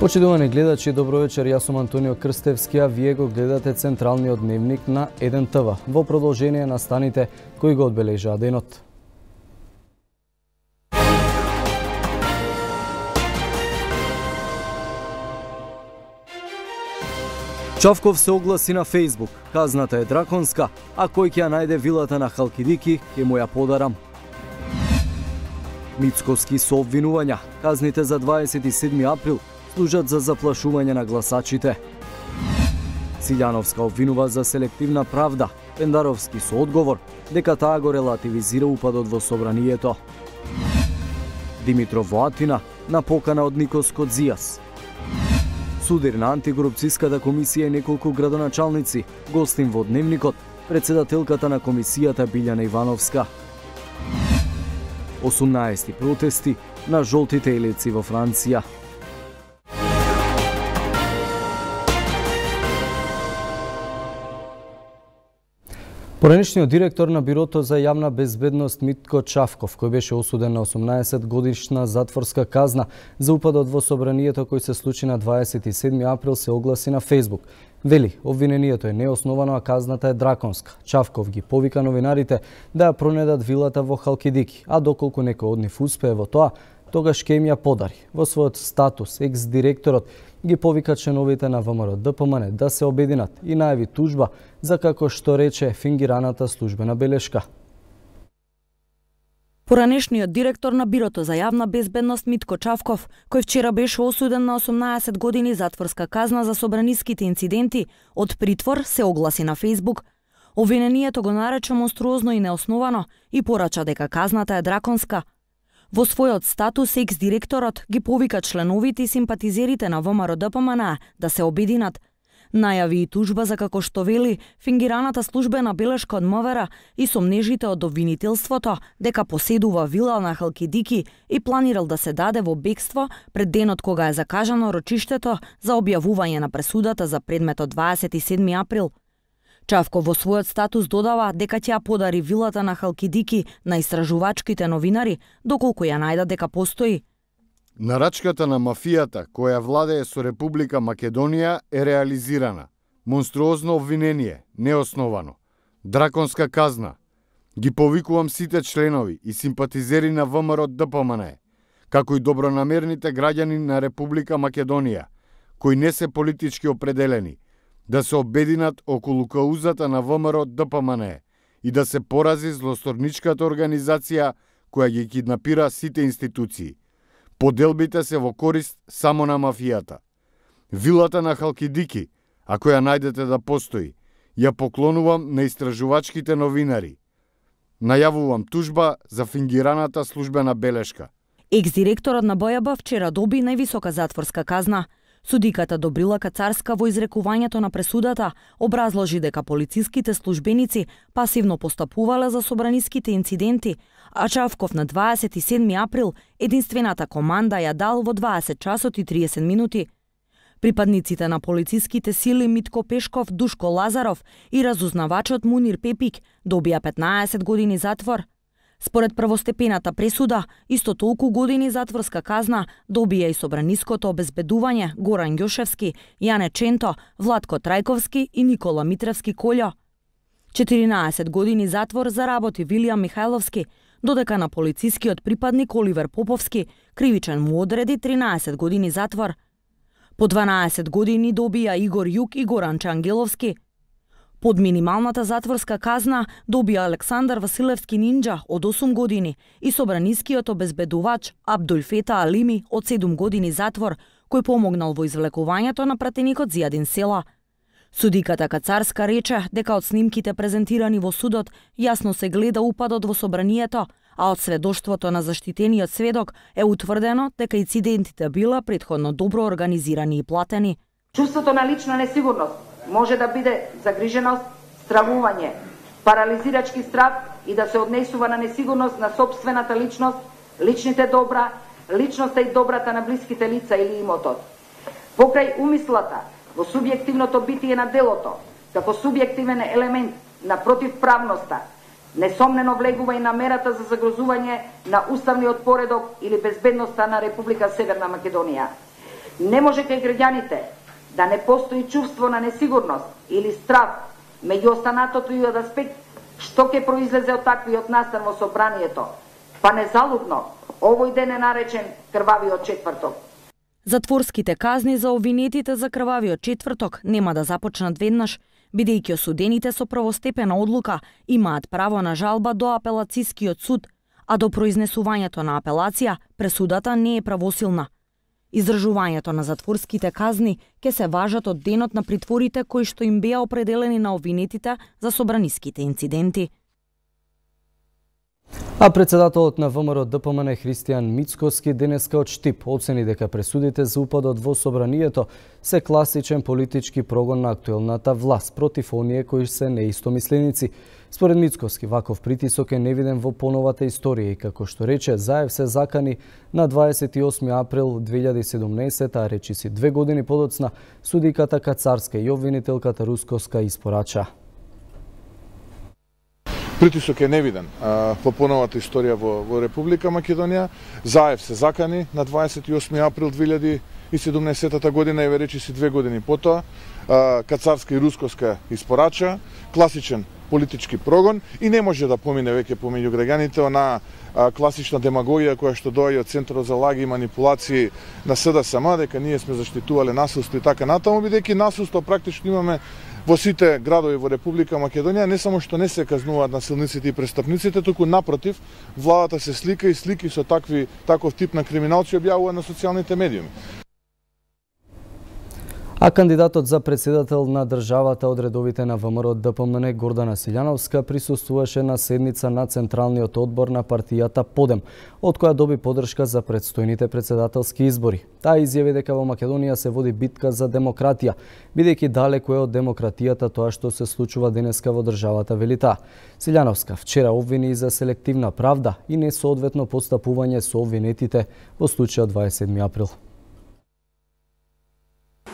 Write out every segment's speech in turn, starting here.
Почитувани гледачи, добро вечер, јас сум Антонио Крстевски, а вие го гледате централниот дневник на 1 ТВ, во продолжение на станите кои го одбележаа денот. Чавков се огласи на Фејсбук. Казната е драконска, а кој ќе ја најде вилата на Халкидики, ќе му ја подарам. Мицковски со обвинувања. Казните за 27 април служат за заплашување на гласачите. Силјановска обвинува за селективна правда. Пендаровски со одговор дека таа го релативизира упадот во собранието. Димитров во Атина на покана од Никос Кодзијас. Судир на антикорупцијската комисија и неколку градоначалници, гостин во дневникот, председателката на комисијата Билјана Ивановска. 18 протести на жолтите елици во Франција. Поранешниот директор на Бирото за јавна безбедност Митко Чавков, кој беше осуден на 18 годишна затворска казна за упадот во собранието кој се случи на 27 април, се огласи на Фејсбук. Вели, обвинението е неосновано, а казната е драконска. Чавков ги повика новинарите да ја пронедат вилата во Халкидики, а доколку некој од нив успее во тоа, тогаш ќе им ја подари. Во својот статус, екс-директорот ги повика членовите на ВМРО ДПМН да се обединат и најави тужба за, како што рече, фингираната службена белешка. Поранешниот директор на Бирото за јавна безбедност Митко Чавков, кој вчера беше осуден на 18 години затворска казна за собраниските инциденти, од притвор се огласи на Фејсбук. Обвинението го нарече монструозно и неосновано и порача дека казната е драконска. Во својот статус, екс-директорот ги повика членовите и симпатизерите на ВМРО ДПМН да се обединат. Најави и тужба за, како што вели, фингираната службена белешка од МВР и сомнежите од обвинителството дека поседува вила на Халкидики и планирал да се даде во бегство пред денот кога е закажано рочиштето за објавување на пресудата за предметот 27 април. Чавков во својот статус додава дека ќе ја подари вилата на Халкидики на истражувачките новинари, доколку ја најдат дека постои. Нарачката на мафијата, која владее со Република Македонија, е реализирана. Монструозно обвинение, неосновано. Драконска казна. Ги повикувам сите членови и симпатизери на ВМРО ДПМН, како и добронамерните граѓани на Република Македонија, кои не се политички определени, да се обединат околу каузата на ВМРО ДПМН и да се порази злосторничката организација која ги киднапира сите институции. Поделбите се во корист само на мафијата. Вилата на Халкидики, ако ја најдете да постои, ја поклонувам на истражувачките новинари. Најавувам тужба за фингираната службена белешка. Екс-директорот на БЈБ вчера доби највисока затворска казна. Судиката Добрила Кацарска во изрекувањето на пресудата образложи дека полициските службеници пасивно постапувале за собраниските инциденти, а Чавков на 27 април единствената команда ја дал во 20 часот и 30 минути. Припадниците на полициските сили Митко Пешков, Душко Лазаров и разузнавачот Мунир Пепик добија 15 години затвор. Според првостепената пресуда, исто толку години затворска казна добија и собраниското обезбедување Горан Ѓошевски, Јане Ченто, Владко Трајковски и Никола Митревски Колјо. 14 години затвор заработи Вилијам Михајловски, додека на полицискиот припадник Оливер Поповски кривичен му одреди 13 години затвор. По 12 години добија Игор Јук и Горанче Ангеловски. Под минималната затворска казна добија Александар Василевски Нинџа од 8 години и собранискиот обезбедувач Абдул Фета Алими од 7 години затвор, кој помогнал во извлекувањето на пратеникот Зијадин Села. Судиката Кацарска рече дека од снимките презентирани во судот јасно се гледа упадот во собранието, а од сведоштвото на заштитениот сведок е утврдено дека инцидентите била претходно добро организирани и платени. Чувството на лична несигурност може да биде загриженост, стравување, парализирачки страв и да се однесува на несигурност на сопствената личност, личните добра, личноста и добрата на блиските лица или имотот. Покрај умислата во субјективното битие на делото, како субјективен елемент на противправноста, несомнено влегува и намерата за загрозување на уставниот поредок или безбедноста на Република Северна Македонија. Не може кај граѓаните да не постои чувство на несигурност или страв меѓу останатото и од аспект што ќе произлезе од таквиот настан во собранието, па незалудно овој ден е наречен крвавиот четврток. Затворските казни за обвинетите за крвавиот четврток нема да започнат веднаш, бидејќи осудените со првостепена одлука имаат право на жалба до апелацијскиот суд, а до произнесувањето на апелација пресудата не е правосилна. Издржувањето на затворските казни ќе се важат од денот на притворите кои што им беа определени на обвинетите за собраниските инциденти. А председателот на ВМРО ДПМН Христијан Мицкоски денеска од Штип оцени дека пресудите за упадот во собранието се класичен политички прогон на актуелната власт против оние кои се неистомисленици. Според Мицкоски, ваков притисок е невиден во поновата историја и како што рече, Заев се закани на 28 април 2017, а речиси 2 години подоцна судиката Кацарска и обвинителката Рускоска испорача. Притисок е невиден во поновата историја во Република Македонија. Заев се закани на 28 април 2017 година и речиси 2 години потоа. Кацарска и Рускоска испорача, класичен политички прогон и не може да помине веќе помеѓу граѓаните она класична демагогија која што доаѓа од Центарот за лаги и манипулации на СДСМ, дека ние сме заштитувале насилство и така натаму, бидејќи насилство практично имаме во сите градови во Република Македонија, не само што не се казнуваат насилниците и престапниците, туку напротив, владата се слика и слики со таков тип на криминалци објавува на социјалните медиуми. А кандидатот за председател на државата од редовите на ВМРО ДПМН Гордана Силјановска присуствуваше на седница на Централниот одбор на партијата Подем, од која доби поддршка за предстојните председателски избори. Таа изјави дека во Македонија се води битка за демократија, бидејќи далеку е од демократијата тоа што се случува денеска во државата, вели таа. Силјановска вчера обвини за селективна правда и несоодветно постапување со обвинетите во случајот 27 април.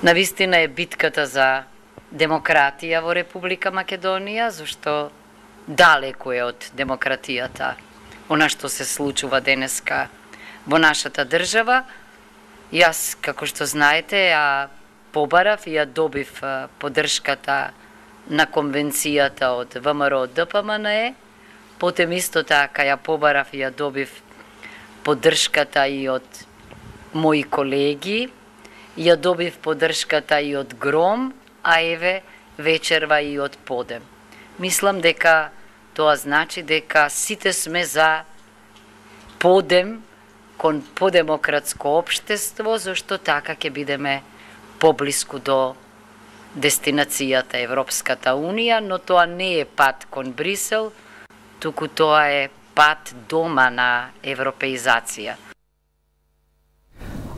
Навистина е битката за демократија во Република Македонија, зашто далеку е од демократијата она што се случува денеска во нашата држава. Јас, како што знаете, побарав и ја добив поддршката на конвенцијата од ВМРО ДПМН, потем исто така ја побарав и ја добив поддршката и од мои колеги, ја добив поддршката и од Гром, а еве вечерва и од Подем. Мислам дека тоа значи дека сите сме за Подем кон подемократско општество, зашто така ќе бидеме поблиску до дестинацијата Европската Унија, но тоа не е пат кон Брисел, туку тоа е пат дома на европеизација.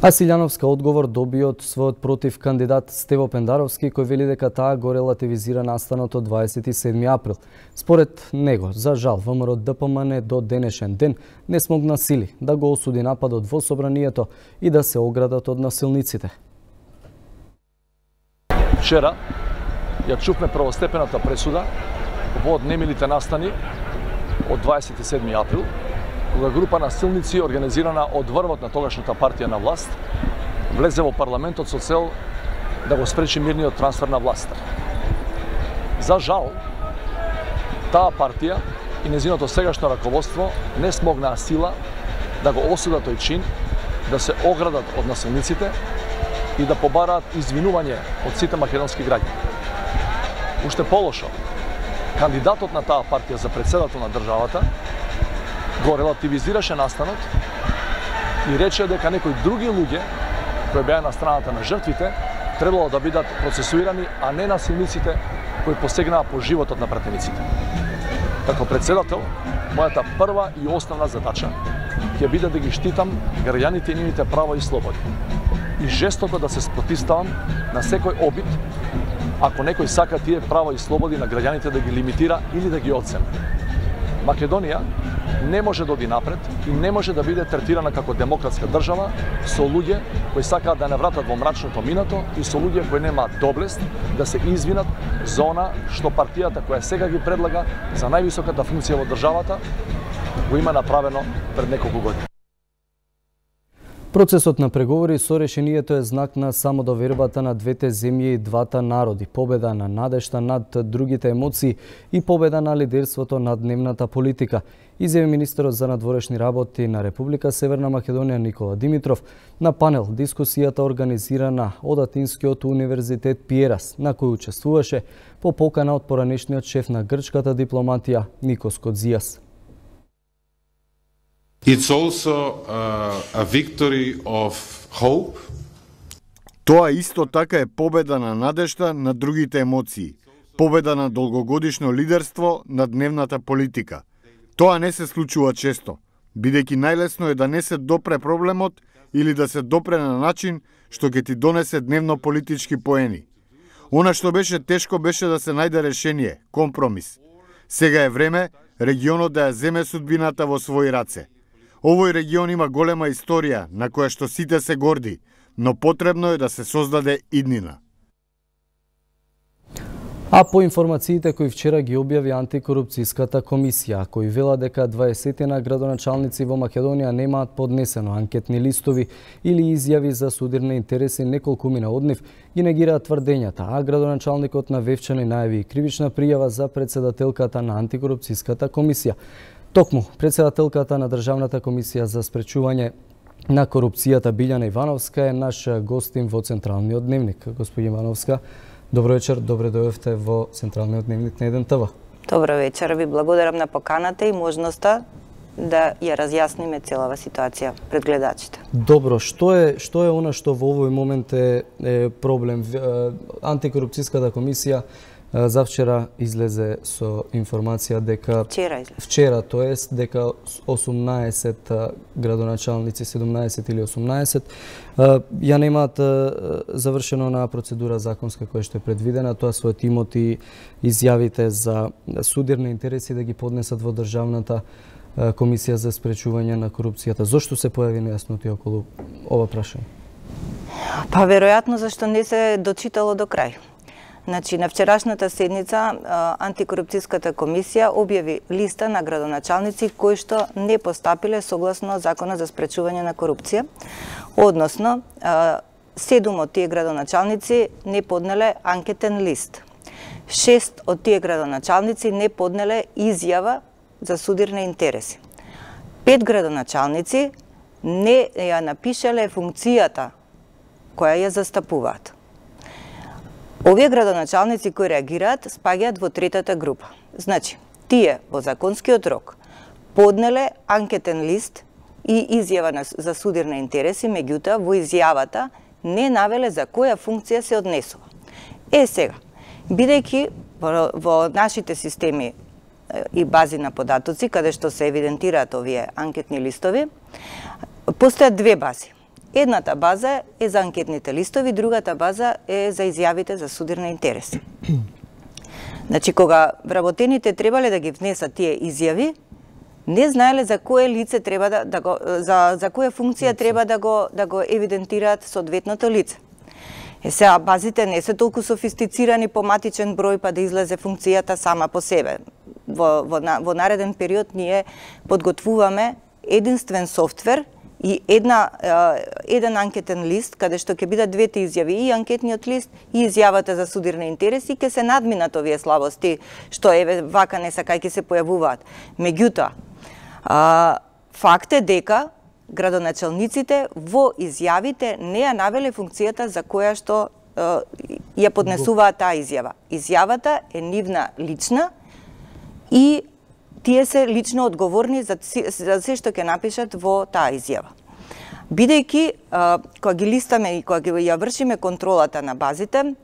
А Силјановска одговор доби од својот против кандидат Стево Пендаровски, кој вели дека таа го релативизира настанот од 27 април. Според него, за жал, ВМРО ДПМН до денешен ден не смогна сили да го осуди нападот во собранието и да се оградат од насилниците. Вчера ја чувме првостепената пресуда во немилите настани од 27 април, кога група насилници организирана од врвот на тогашната партија на власт влезе во парламентот со цел да го спречи мирниот трансфер на власта. За жал, таа партија и нејзиното сегашно раководство не смогнаа сила да го осудат тој чин, да се оградат од насилниците и да побараат извинување од сите македонски граѓани. Уште полошо, кандидатот на таа партија за председател на државата го релативизираше настанот и рече дека некои други луѓе кои беа на страната на жртвите требало да бидат процесуирани, а не насилниците кои посегнаа по животот на пратениците. Како председател, мојата прва и основна задача ќе биде да ги штитам граѓаните и нивните права и слободи и жестоко да се спротивставам на секој обид ако некој сака тие права и слободи на граѓаните да ги лимитира или да ги одземе. Македонија не може да оди напред и не може да биде третирана како демократска држава со луѓе кои сакаат да не вратат во мрачното минато и со луѓе кои немаат доблест да се извинат за она што партијата која сега ги предлага за највисоката функција во државата го има направено пред неколку години. Процесот на преговори со решението е знак на самодовербата на двете земји и двата народи, победа на надежта над другите емоции и победа на лидерството над дневната политика, изјави министерот за надворешни работи на Република Северна Македонија Никола Димитров на панел дискусијата организирана од Атинскиот универзитет Пиерас, на кој учествуваше по покана од поранешниот шеф на грчката дипломатија Никос Кодзијас. It's also a victory of hope. Тоа исто така е победа на надежта на другите емоции, победа на долгогодишно лидерство на дневната политика. Тоа не се случува често, бидејќи најлесно е да не се допре проблемот или да се допре на начин што ќе ти донесе дневно политички поени. Она што беше тешко беше да се најде решение, компромис. Сега е време регионот да ја земе судбината во своји раце. Овој регион има голема историја на која што сите се горди, но потребно е да се создаде иднина. А по информациите кои вчера ги објави антикорупцијската комисија, кои вела дека 20 градоначалници во Македонија немаат поднесено анкетни листови или изјави за судирни интереси, неколкумина од нив ги негираат тврдењата, а градоначалникот на Вевчани најави и кривична пријава за председателката на антикорупцијската комисија. Токму, председателката на Државната комисија за спречување на корупцијата Билјана Ивановска е наш гостин во Централниот дневник. Господи Ивановска, добро вечер, добре дојдовте во Централниот дневник на 1 ТВ. Добро вечер, ви благодарам на поканата и можноста да ја разјасниме целава ситуација пред гледачите. Добро, што е она што во овој момент е проблем? Антикорупцијската комисија завчера излезе со информација дека вчера, тоест дека 18 градоначалници, 17 или 18 ја немаат завршено на процедура законска која што е предвидена, тоа својот имот и изјавите за судирни интереси да ги поднесат во Државната комисија за спречување на корупцијата. Зошто се појави нејасноти околу ова прашање? Па веројатно зашто не се дочитало до крај. Значи, на вчерашната седница антикорупцијската комисија објави листа на градоначалници кои што не постапиле согласно Закона за спречување на корупција, односно 7 од тие градоначалници не поднеле анкетен лист. 6 од тие градоначалници не поднеле изјава за судирни интереси. 5 градоначалници не ја напишале функцијата која ја застапуваат. Овие градоначалници кои реагираат спаѓаат во третата група. Значи, тие во законскиот рок поднеле анкетен лист и изјава за судирни интереси, меѓутоа во изјавата не навеле за која функција се однесува. Сега, бидејќи во нашите системи и бази на податоци, каде што се евидентираат овие анкетни листови, постојат две бази. Едната база е за анкетните листови, другата база е за изјавите за судирни интереси. Значи, кога вработените требале да ги внесат тие изјави, не знаеле за кое лице треба за која функција треба да го евидентираат соодветното лице. Сега базите не се толку софистицирани по матичен број па да излезе функцијата сама по себе. Во нареден период ние подготвуваме единствен софтвер и еден анкетен лист, каде што ќе бидат двете изјави, и анкетниот лист и изјавата за судирни интереси, ќе се надминат овие слабости, што вака не сакај ќе се појавуваат. Меѓутоа, факт е дека градоначалниците во изјавите не ја навеле функцијата за која што ја поднесуваат таа изјава. Изјавата е нивна лична и тие се лично одговорни за се што ќе напишат во таа изјава. Бидејќи, кога ги листаме и кога ја вршиме контролата на базите,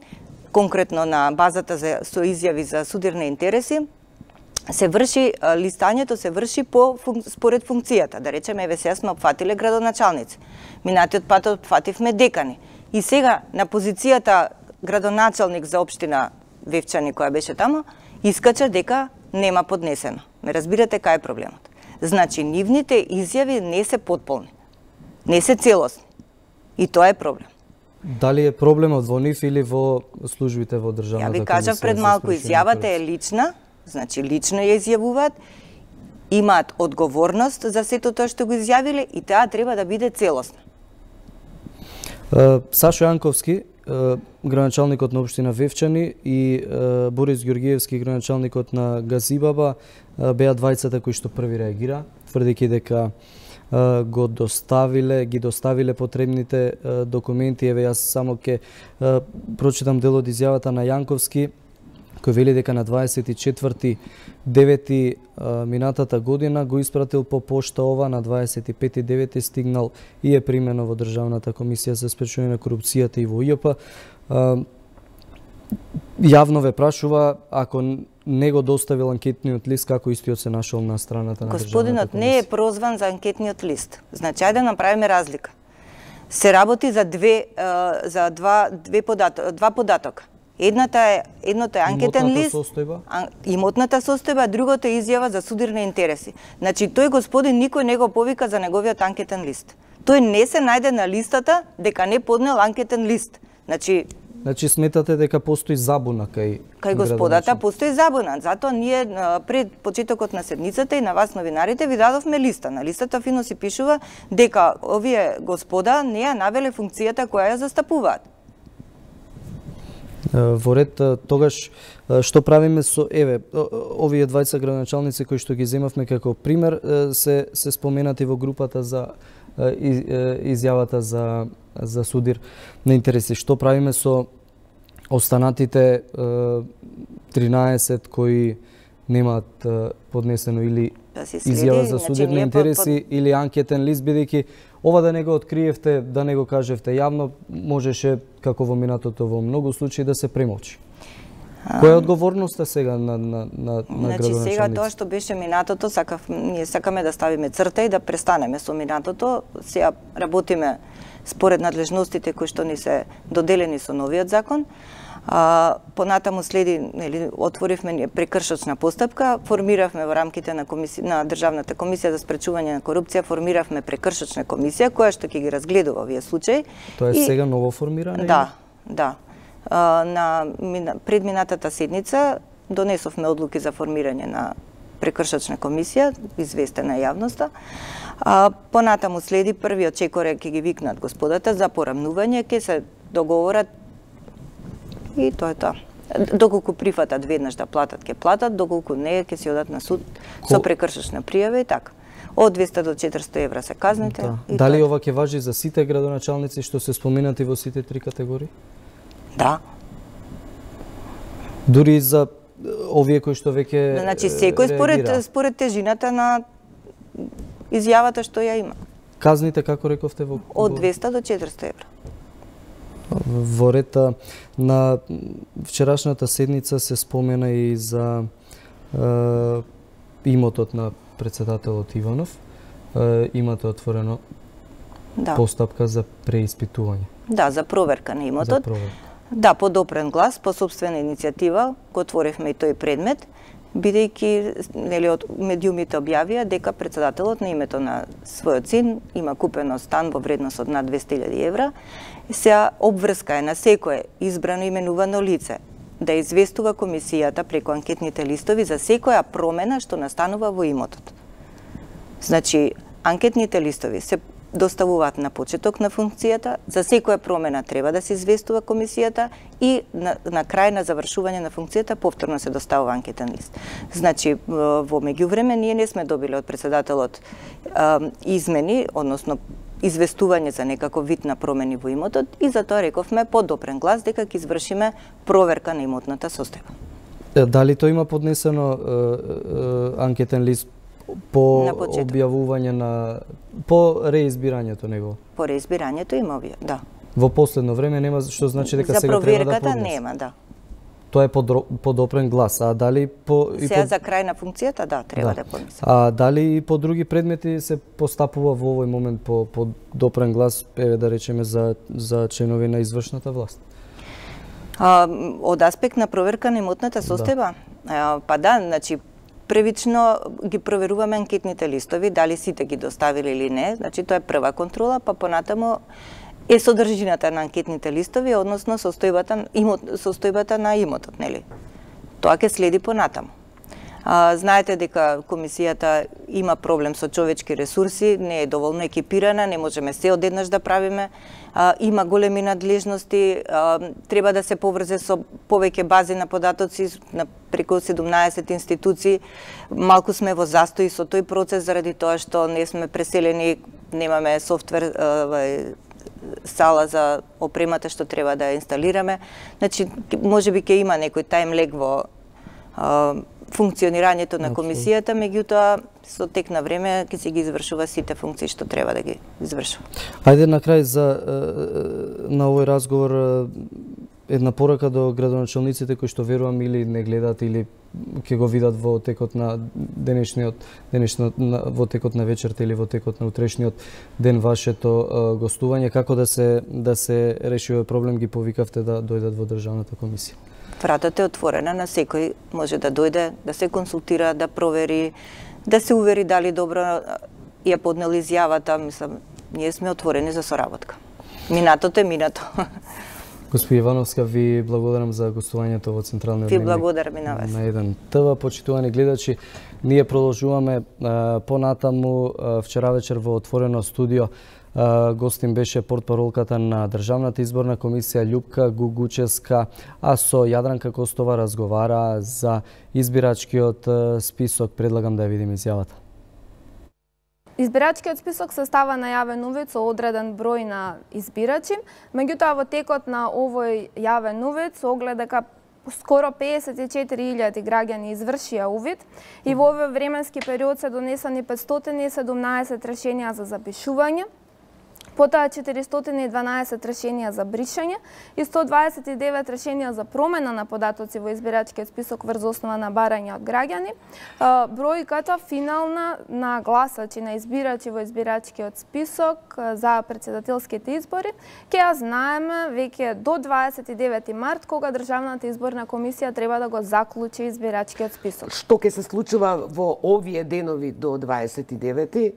конкретно на базата со изјави за судирни интереси, листањето се врши според функцијата. Да речеме, сега сме опфатиле градоначалници. Минатиот пат опфативме декани. И сега, на позицијата градоначалник за општина Вевчани, која беше тамо, искача дека нема поднесено. Ме разбирате кај е проблемот. Значи, нивните изјави не се потполни, не се целосни. И тоа е проблем. Дали е проблемот во нив или во службите во државната комисија? Ја ви кажав пред малку, изјавата е лична, значи лично ја изјавуваат, имаат одговорност за сето тоа што го изјавиле и таа треба да биде целосна. Сашо Јанковски, градоначалникот на општина Вевчани, и Борис Ѓоргиевски, градоначалникот на Газибаба, беа двајцата кои што први реагира, тврдејќи дека ги доставиле потребните документи. Еве, јас само ќе прочитам дел од изјавата на Јанковски, кој вели дека на 24.9. минатата година го испратил по пошта ова, на 25.9. стигнал и е примено во Државната комисија за спречување на корупцијата и во ЈП. Јавно ве прашува ако не го доставил анкетниот лист, како истиот се нашол на страната на Државната комисија. Господинот не е прозван за анкетниот лист. Значи, ајде да направиме разлика. Се работи за два податока. Едното е анкетен лист, имотната состојба, другото е изјава за судирни интереси. Значи, тој господин никој не го повика за неговиот анкетен лист. Тој не се најде на листата дека не поднел анкетен лист. Значи сметате дека постои забуна кај господата, постои забуна. Затоа ние пред почетокот на седницата и на вас новинарите ви дадовме листа. На листата фино си пишува дека овие господа не ја навеле функцијата која ја застапуваат. Во ред, тогаш што правиме со овие двајца градоначалници кои што ги земавме како пример, се споменати во групата за изјавата за судир на интереси. Што правиме со останатите 13 кои немаат поднесено или изјава за судир на интереси или анкетен лист, бидејќи ова да не го откриевте, да не го кажевте јавно, можеше, како во минатото во многу случаи, да се премолчи. Која е одговорноста сега на градоначалниците? Значи, сега тоа што беше минатото, ние сакаме да ставиме црта и да престанеме со минатото. Сега работиме според надлежностите кои што ни се доделени со новиот закон. Понатаму следи, отворивме прекршочна постапка, формиравме во рамките на Државната комисија за спречување на корупција, формиравме прекршочна комисија која што ќе ги разгледува овие случаи. Тоа е сега ново формиране? Да. На предминатата седница донесовме одлуки за формирање на прекршочна комисија, известена јавноста. Понатаму следи првиот чекоре, ќе ги викнат господата за порамнување, ќе се договорат и тоа е тоа. Доколку прифатат веднаш да платат, ќе платат, доколку не, ќе се одат на суд со прекршочна пријава и така. Од 200 до 400 евра се казните. Дали ова ќе важи за сите градоначалници што се споменати во сите три категории? Да. Дури и за овие кои што веќе значи секој според тежината на изјавата што ја има. Казните, како рековте, од 200 до 400 евра. Во ред на вчерашната седница се спомена и за имотот на председателот Иванов. Имате отворено постапка за преиспитување. Да, за проверка на имотот. Да, по допрен глас, по собствена иницијатива, го отворивме и тој предмет, бидејќи од медиумите објавија дека председателот на името на својот син има купено стан во вредност од над 200.000 евра. Сега обврска е на секое избрано именувано лице да известува комисијата преку анкетните листови за секоја промена што настанува во имотот. Значи, анкетните листови се доставуваат на почеток на функцијата, за секоја промена треба да се известува комисијата и на крај на завршување на функцијата повторно се доставува анкетен лист. Значи, во меѓувреме ние не сме добили од председателот измени, односно известување за некаков вид на промени во имотот и затоа рековме под допрен глас дека ќе извршиме проверка на имотната состојба. Дали тој има поднесено анкетен лист по објавување по реизбирањето него? По реизбирањето има објав, да. Во последно време нема, што значи дека сега треба да поднесе? За проверката нема, да. Тоа е по допрен глас, а дали сега за крај на функцијата, да, треба да поднесе. А дали и по други предмети се постапува во овој момент по допрен глас, еве да речеме за членови на извршната власт? Од аспект на проверка на имотната состојба? Па да, значи првично ги проверуваме анкетните листови, дали сите ги доставили или не, значи тоа е прва контрола, па понатаму е содржината на анкетните листови, односно состојбата на имотот, нели? Тоа ќе следи понатаму. Знаете дека комисијата има проблем со човечки ресурси, не е доволно екипирана, не можеме се одеднаш да правиме, има големи надлежности, треба да се поврзе со повеќе бази на податоци, на преку 17 институции. Малку сме во застој со тој процес заради тоа што не сме преселени, немаме софтвер, сала за опремата што треба да ја инсталираме. Значи, можеби ќе има некој тајмлег во функционирањето на комисијата, меѓутоа со тек на време ќе се ги извршува сите функции што треба да ги извршува. Ајде на крај на овој разговор една порака до градоначалниците кои што верувам или не гледат или ќе го видат во текот на во текот на вечерта или во текот на утрешниот ден вашето гостување, како да се реши овој проблем, ги повикавте да дојдат во државната комисија. Вратата е отворена, на секој може да дојде, да се консултира, да провери, да се увери дали добро ја поднел изјавата. Мислам, ние сме отворени за соработка. Минатото е минато. Госпоѓа Ивановска, ви благодарам за гостувањето во Централниот дневник. Ви благодарам и на вас. На еден ТВ, почитувани гледачи, ние продолжуваме понатаму. Вчера вечер во отворено студио гостин беше портпаролката на Државната изборна комисија Љупка Гугучевска, а со Јадранка Костова разговара за избирачкиот список. Предлагам да ја видиме изјавата. Избирачкиот список се става на јавен увид со одреден број на избирачи, меѓутоа во текот на овој јавен увид се огледа дека скоро 54.000 граѓани извршија увид и во овој временски период се донесени 517 решенија за запишување, потоа 412 решенија за бришање и 129 решенија за промена на податоци во избирачкиот список врз основа на барања од граѓани. Бројката финална на гласачи, на избирачи во избирачкиот список за претседателските избори ќе ја знаеме веќе до 29 март, кога Државната изборна комисија треба да го заклучи избирачкиот список. Што ќе се случува во овие денови до 29?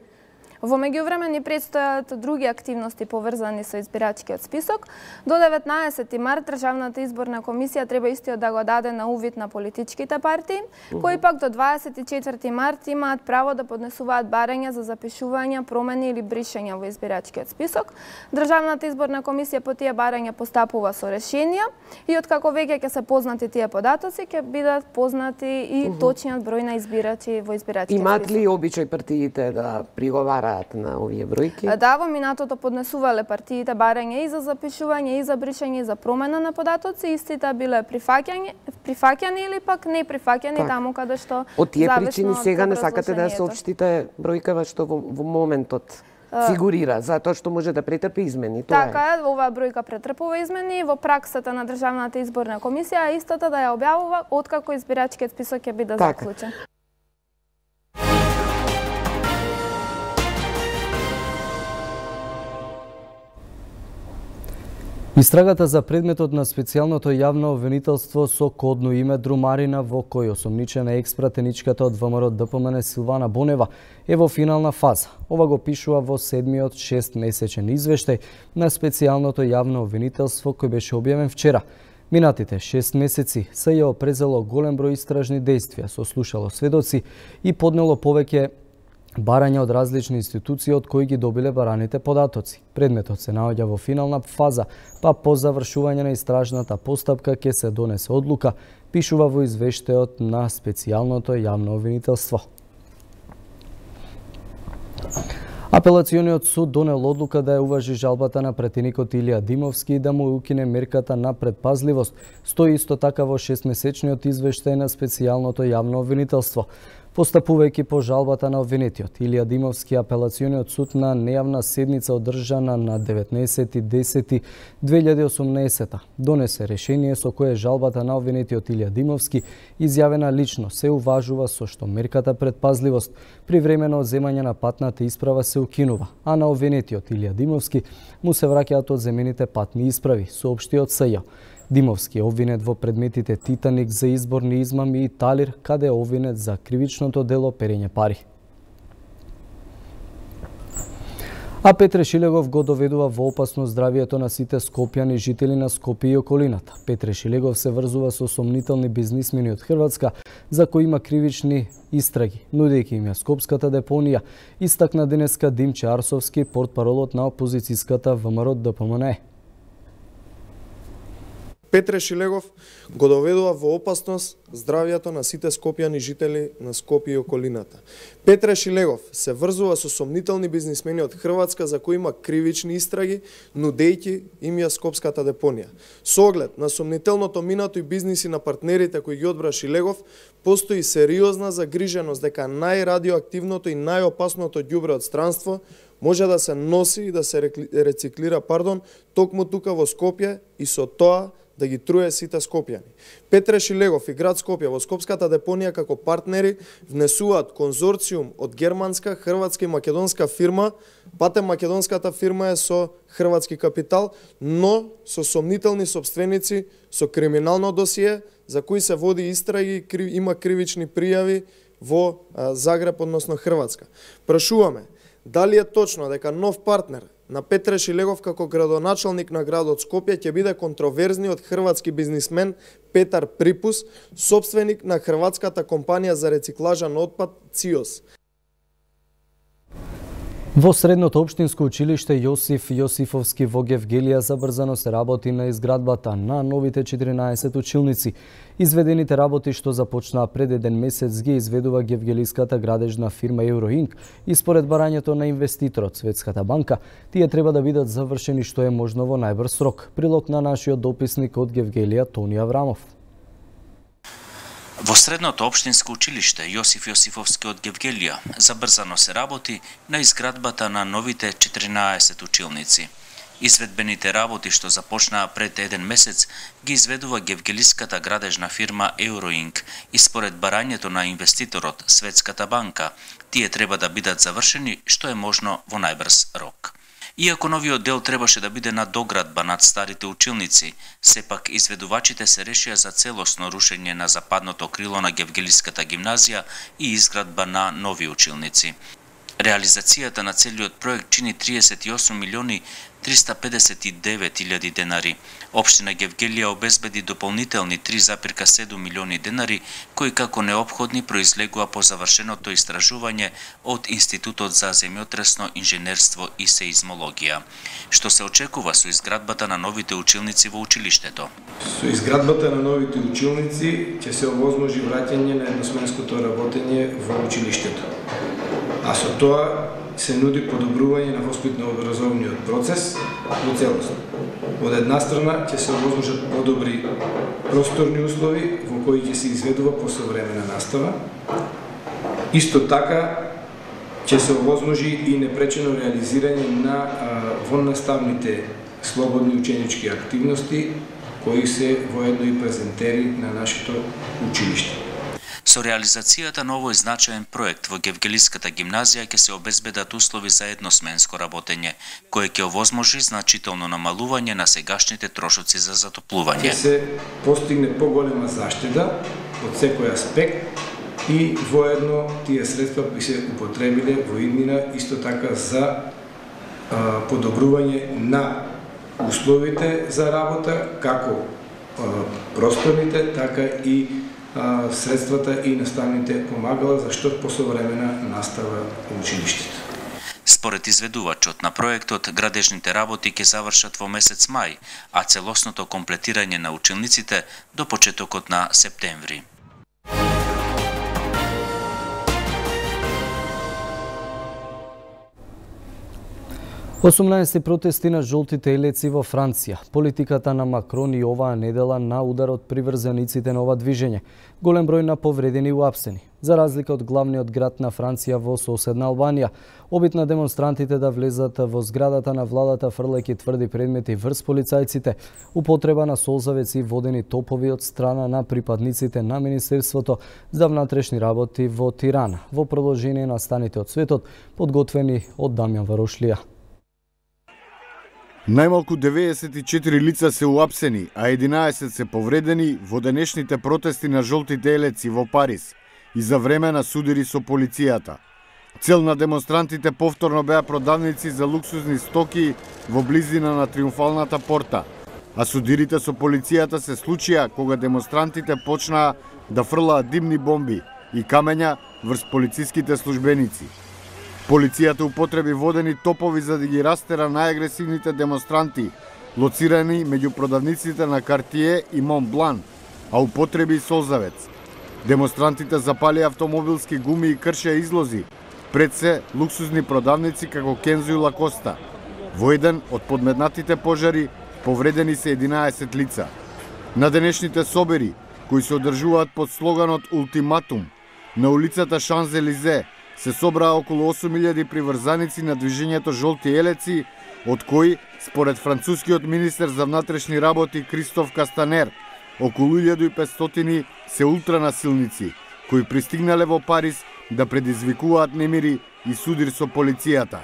Во меѓувреме ни предстојат други активности поврзани со избирачкиот список. До 19 март Државната изборна комисија треба истиот да го даде на увид на политичките партии, кои пак до 24 март имаат право да поднесуваат барања за запишување, промени или бришања во избирачкиот список. Државната изборна комисија по тие барања постапува со решенија и откако веќе ќе се познати тие податоци, ќе бидат познати и точниот број на избирачи во избирачкиот список. Имаат ли обичај партиите да приговараат на овие бројки? Да, во минатото поднесувале партиите барања и за запишување, и за бришање, и за промена на податоци. Истите биле прифаќани или пак не прифаќани таму каде што од тие причини сега не сакате да соопштите бројкава што во моментот фигурира, затоа што може да претрпи измени. Така е, оваа бројка претрпува измени. Во праксата на Државната изборна комисија истата да ја објавува откако избирачкиот список ќе биде заклучен. Истрагата за предметот на специјалното јавно обвинителство со кодно име Друмарина, во кој осомничена екс-пратеничката од ВМРО ДПМН Силвана Бонева е во финална фаза. Ова го пишува во 7-миот 6-месечен извештај на специјалното јавно обвинителство кој беше објавен вчера. Минатите 6 месеци се ја опрезело голем број истражни действија, сослушало сведоци и поднело повеќе барања од различни институции од кои ги добиле бараните податоци. Предметот се наоѓа во финална фаза, па по завршување на истражната постапка ќе се донесе одлука, пишува во извештајот на специјалното јавно обвинителство. Апелациониот суд донел одлука да ја уважи жалбата на претеникот Илија Димовски и да му укине мерката на предпазливост. Стои исто така во 6-месечниот извештај на специјалното јавно обвинителство. Постапувајќи по жалбата на обвинетиот, Илија Димовски, апелациониот суд на нејавна седница одржана на 19.10.2018 донесе решение со кое жалбата на обвинетиот Илија Димовски, изјавена лично, се уважува, со што мерката предпазливост при времено одземање на патната исправа се укинува, а на обвинетиот Илија Димовски му се враќаат одземените патни исправи, соопшти од СЈ. Димовски е обвинет во предметите Титаник за изборни измами и Талир, каде е обвинет за кривичното дело перење пари. А Петре Шилегов го доведува во опасно здравието на сите скопјани жители на Скопје и околината. Петре Шилегов се врзува со сомнителни бизнисмени од Хрватска, за кои има кривични истраги, нудејќи им ја скопската депонија, истакна денеска Димче Арсовски, портпаролот на опозицијската ВМРО ДПМНЕ. Петре Шилегов го доведува во опасност здравието на сите скопјани жители на Скопје и околината. Петре Шилегов се врзува со сомнителни бизнисмени од Хрватска за кои има кривични истраги, нудејќи им ја скопската депонија. Со оглед на сомнителното минато и бизниси на партнерите кои ги одбра Шилегов, постои сериозна загриженост дека најрадиоактивното и најопасното ѓубре од странство може да се носи и да се рециклира, токму тука во Скопје и со тоа да ги труе сите скопјани. Петре Шилегов и град Скопје во скопската депонија како партнери внесуваат конзорциум од германска, хрватска и македонска фирма. Патем македонската фирма е со хрватски капитал, но со сомнителни сопственици, со криминално досие, за кои се води истраги, има кривични пријави во Загреб, односно Хрватска. Прашуваме, дали е точно дека нов партнер на Петре Шилегов како градоначалник на градот Скопје ќе биде контроверзниот хрватски бизнисмен Петар Припус, сопственик на хрватската компанија за рециклажа на отпад ЦИОС. Во Средното општинско училиште Јосиф Јосифовски во Гевгелија забрзано се работи на изградбата на новите 14 училници. Изведените работи што започнаа пред еден месец ги изведува гевгелиската градежна фирма Euroink и според барањето на инвеститорот Светската банка, тие треба да бидат завршени што е можно во најбрз рок. Прилог на нашиот дописник од Гевгелија Тони Аврамов. Во Средното општинско училиште Јосиф Јосифовски од Гевгелија забрзано се работи на изградбата на новите 14 училници. Изведбените работи што започнаа пред еден месец ги изведува гевгелиската градежна фирма Euroink и според барањето на инвеститорот Светската банка, тие треба да бидат завршени што е можно во најбрз рок. Иако новиот дел требаше да биде надоградба над старите училници, сепак изведувачите се решија за целосно рушење на западното крило на Гевгелиската гимназија и изградба на нови училници. Реализацијата на целиот проект чини 38 милиони 359 илјади денари. Општина Гевгелија обезбеди дополнителни 3,7 милиони денари, кои како неопходни произлегува по завршеното истражување од Институтот за земјотресно инженерство и сеизмологија. Што се очекува со изградбата на новите училници во училиштето? Со изградбата на новите училници ќе се овозможи враќање на едносменското работење во училиштето. А со тоа се нуди подобрување на воспитно-образовниот процес во целост. Од една страна ќе се овозможат подобри просторни услови во кои ќе се изведува посовремена настава. Исто така ќе се овозможи и непречено реализирање на воннаставните слободни ученички активности кои се воедно и презентери на нашето училиште. Со реализацијата на овој значаен проект во Гевгелиската гимназија ќе се обезбедат услови за едносменско работење, кое ќе овозможи значително намалување на сегашните трошоци за затоплување. Ќе се постигне поголема заштеда од секој аспект и воедно тие средства би се употребиле во иднина исто така за подобрување на условите за работа, како просторните, така и средствата и наставните помагала за што посовремена настава во училиштето. Според изведувачот на проектот, градежните работи ќе завршат во месец мај, а целосното комплетирање на училниците до почетокот на септември. 18 протести на жолтите елеци во Франција. Политиката на Макрон и оваа недела на удар од приврзаниците на ова движење. Голем број на повредени и уапсени. За разлика од главниот град на Франција во соседна Албанија, обид на демонстрантите да влезат во зградата на владата фрлајќи тврди предмети врз полицајците, употреба на солзавеци и водени топови од страна на припадниците на Министерството за внатрешни работи во Тирана, во продолжение на станите од светот, подготвени од Дамјан Варошлија. Најмалку 94 лица се уапсени, а 11 се повредени во денешните протести на жолтите елеци во Париз и за време на судири со полицијата. Цел на демонстрантите повторно беа продавници за луксузни стоки во близина на Триумфалната порта, а судирите со полицијата се случија кога демонстрантите почнаа да фрлаат димни бомби и камења врз полициските службеници. Полицијата употреби водени топови за да ги растера најагресивните демонстранти, лоцирани меѓу продавниците на Картие и Монблан, а употреби и солзавец. Демонстрантите запалија автомобилски гуми и кршеа излози, пред се луксузни продавници како Кензо и Лакоста. Во еден од подметнатите пожари повредени се 11 лица. На денешните собери, кои се одржуваат под слоганот Ултиматум, на улицата Шанзелизе се собраа околу 8000 приврзаници на движењето Жолти елеци, од кои, според францускиот министер за внатрешни работи Кристоф Кастанер, околу 1500 се ултранасилници, кои пристигнале во Париз да предизвикуваат немири и судир со полицијата.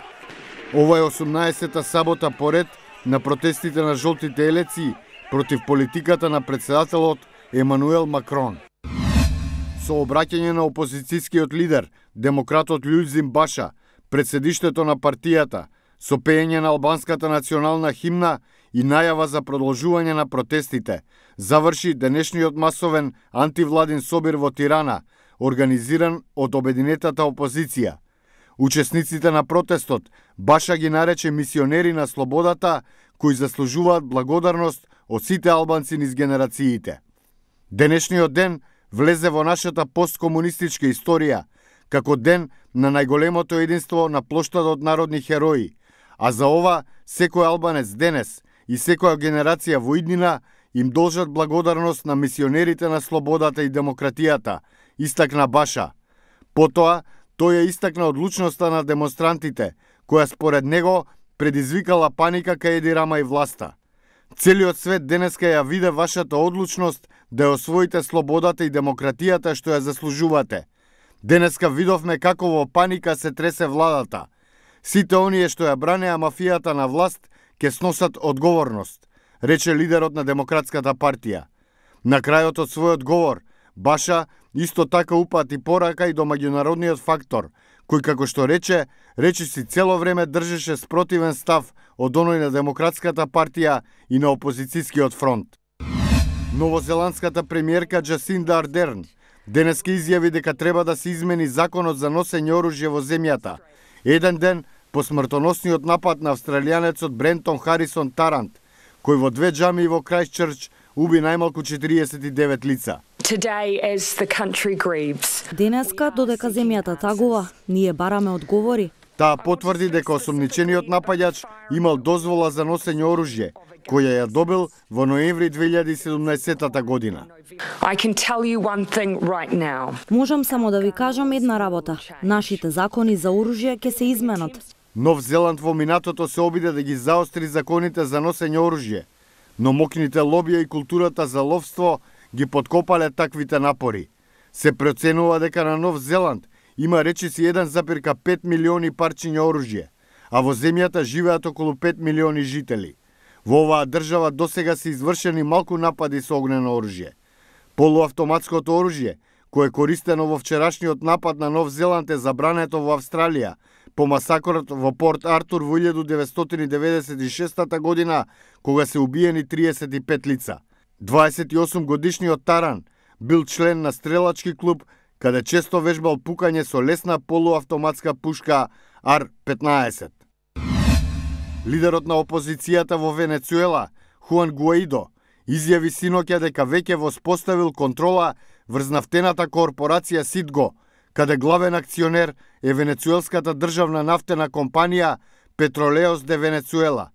Ова е 18-та сабота поред на протестите на Жолтите елеци против политиката на председателот Емануел Макрон. Со обраќање на опозицијскиот лидер, демократот Лјузим Баша, пред седиштето на партијата, со пеење на албанската национална химна и најава за продолжување на протестите, заврши денешниот масовен антивладин собир во Тирана, организиран од обединетата опозиција. Учесниците на протестот Баша ги нарече мисионери на слободата, кои заслужуваат благодарност од сите албанци низ генерациите. Денешниот ден влезе во нашата посткомунистичка историја, како ден на најголемото единство на плоштадот народни херои, а за ова секој албанец денес и секоја генерација во иднина им должат благодарност на мисионерите на слободата и демократијата, истакна Баша. Потоа, тој ја истакна одлучноста на демонстрантите, која според него предизвикала паника кај Еди Рама и власта. Целиот свет денеска ја виде вашата одлучност да ја освоите слободата и демократијата што ја заслужувате. Денеска видовме како во паника се тресе владата. Сите оние што ја бранеа мафијата на власт ќе сносат одговорност, рече лидерот на Демократската партија. На крајот од својот говор, Баша исто така упати порака и до меѓународниот фактор, кој како што речиси цело време држеше спротивен став од оној на Демократската партија и на опозицијскиот фронт. Новозеландската премиерка Джасинда Ардерн денеска изјави дека треба да се измени законот за носење оружје во земјата, еден ден по смртоносниот напад на австралијанецот Брентон Харисон Тарант, кој во 2 џамии во Крајстчрч уби најмалку 49 лица. Денеска, додека земјата тагува, ние бараме одговори. Таа потврди дека осомничениот напаѓач имал дозвола за носење оружје, која ја добил во ноември 2017 година. Можам само да ви кажам една работа. Нашите закони за оружје ќе се изменат. Нов Зеланд во минатото се обиде да ги заостри законите за носење оружје, но мокните лобија и културата за ловство ги подкопале таквите напори. Се проценува дека на Нов Зеланд има речиси 1,5 милиони парчиња оружје, а во земјата живеат околу 5 милиони жители. Во оваа држава досега се извршени малку напади со огнено оружје. Полуавтоматското оружје, кое е користено во вчерашниот напад на Нов Зеланд, е забрането во Австралија по масакрот во Порт Артур во 1996 година, кога се убиени 35 лица. 28 годишниот Таран бил член на стрелачки клуб, каде често вежбал пукање со лесна полуавтоматска пушка Ар-15. Лидерот на опозицијата во Венецуела, Хуан Гуаидо, изјави синоќа дека веќе воспоставил контрола врз нафтената корпорација Ситго, каде главен акционер е венецуелската државна нафтена компанија Петролеос де Венецуела.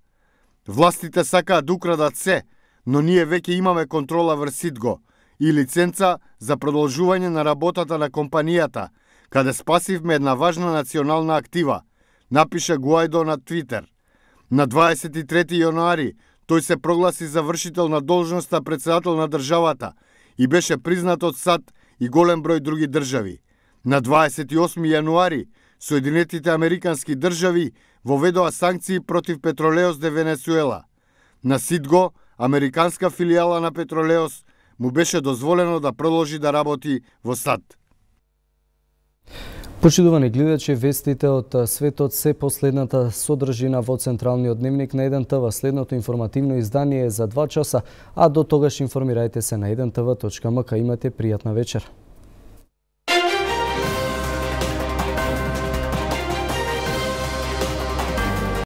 Властите сакаат да украдат се, но ние веќе имаме контрола врз Ситго и лиценца за продолжување на работата на компанијата, каде спасивме една важна национална актива, напиша Гуаидо на Твитер. На 23 јануари тој се прогласи за вршител на должноста председател на државата и беше признат од САД и голем број други држави. На 28 јануари Соединетите Американски држави воведоа санкции против Петролеос де Венецуела. На Ситго, американска филијала на Петролеос, му беше дозволено да продолжи да работи во САД. Почитувани гледачи, вестите од светот се последната содржина во централниот дневник на 1TV. Следното информативно издание е за 2 часа, а до тогаш информирајте се на 1tv.mk. Имате пријатна вечер.